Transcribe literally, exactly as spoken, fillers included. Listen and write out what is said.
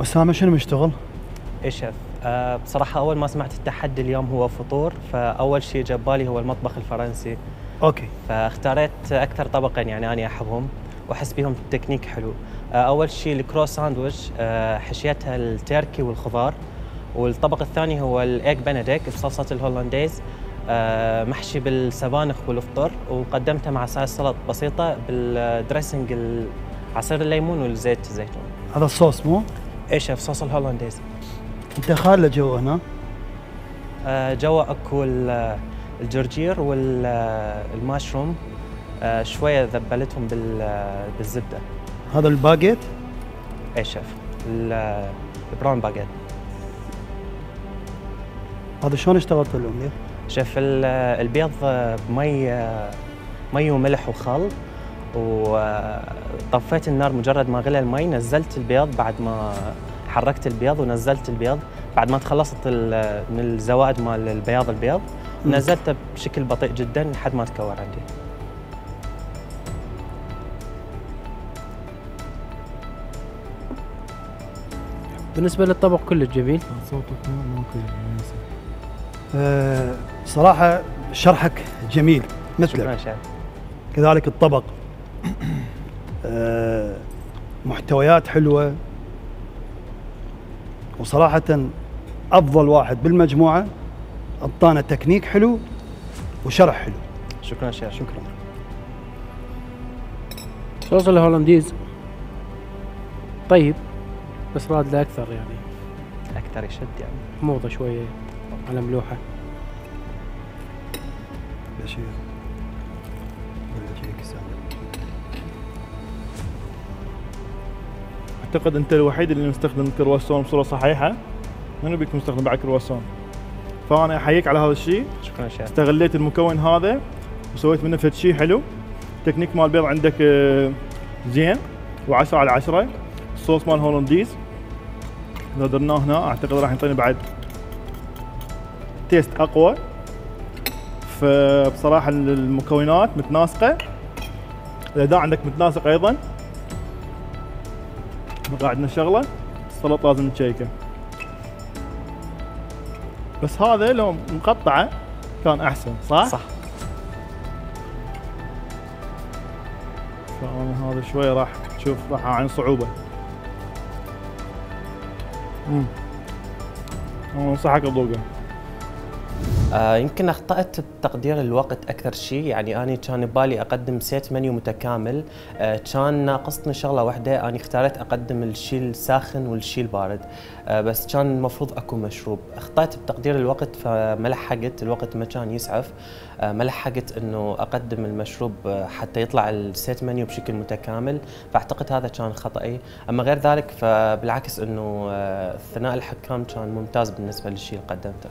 أسامة شنو مشتغل؟ اي شيف. أه بصراحة أول ما سمعت التحدي اليوم هو فطور، فأول شيء جاب بالي هو المطبخ الفرنسي. أوكي. فاختاريت أكثر طبقين يعني أنا أحبهم وأحس بيهم تكنيك حلو. أه أول شيء الكرو ساندويتش، أه حشيتها التركي والخضار، والطبق الثاني هو الإيج بنديك بصلصة الهولنديز، أه محشي بالسبانخ والفطر، وقدمته مع سايس سلطة بسيطة بالدريسنج عصير الليمون والزيت الزيتون. هذا الصوص مو؟ اي شيف، صوص الهولنديز. أنت خالة جو هنا؟ آه جوا اكو الجرجير والماشروم، آه شويه ذبلتهم بالزبده. هذا الباجيت؟ اي شيف، البراون باجيت. هذا شلون اشتغلت اليوم؟ شيف البيض بمي مي وملح وخل، وطفيت النار مجرد ما غلى المي، نزلت البيض بعد ما حركت البيض ونزلت البيض بعد ما تخلصت من الزوائد مال البياض البيض، نزلته بشكل بطيء جدا لحد ما تكور عندي. بالنسبة للطبق كله جميل. صوتك مو مناسب. أه صراحة شرحك جميل مثلك. كذلك الطبق أه محتويات حلوة، وصراحة أفضل واحد بالمجموعة، أعطانا تكنيك حلو وشرح حلو. شكرا شيخ. شكرا. صوص الهولنديز طيب، بس راد له أكثر يعني. أكثر يشد يعني. حموضة شوية على ملوحة. بشير اعتقد انت الوحيد اللي مستخدم كرواسون بصوره صحيحه، منو بيكون مستخدم بعد كرواسون؟ فانا احييك على هذا الشيء. شكرا شيخ. استغليت المكون هذا وسويت منه فد شيء حلو. التكنيك مال البيض عندك زين وعشرة على عشرة. الصوص مال هولنديز اذا درناه هنا اعتقد راح يعطينا بعد تيست اقوى. فبصراحه المكونات متناسقه، الاداء عندك متناسق ايضا. بقى عندنا شغله، السلطه لازم نشيكه، بس هذا لو مقطعه كان احسن. صح؟ صح. فانا هذا شوي راح تشوف راح اعاني صعوبه. امم انا انصحك تذوقه. آه يمكن اخطأت بتقدير الوقت اكثر شيء، يعني اني كان ببالي اقدم سيت منيو متكامل، آه كان ناقصني شغله واحده، اني اختاريت اقدم الشيء الساخن والشيء البارد، آه بس كان المفروض اكو مشروب. اخطأت بتقدير الوقت فما لحقت، الوقت ما كان يسعف، آه ما لحقت انه اقدم المشروب حتى يطلع السيت منيو بشكل متكامل، فاعتقد هذا كان خطأي. اما غير ذلك فبالعكس انه آه ثناء الحكام كان ممتاز بالنسبه للشيء اللي قدمته.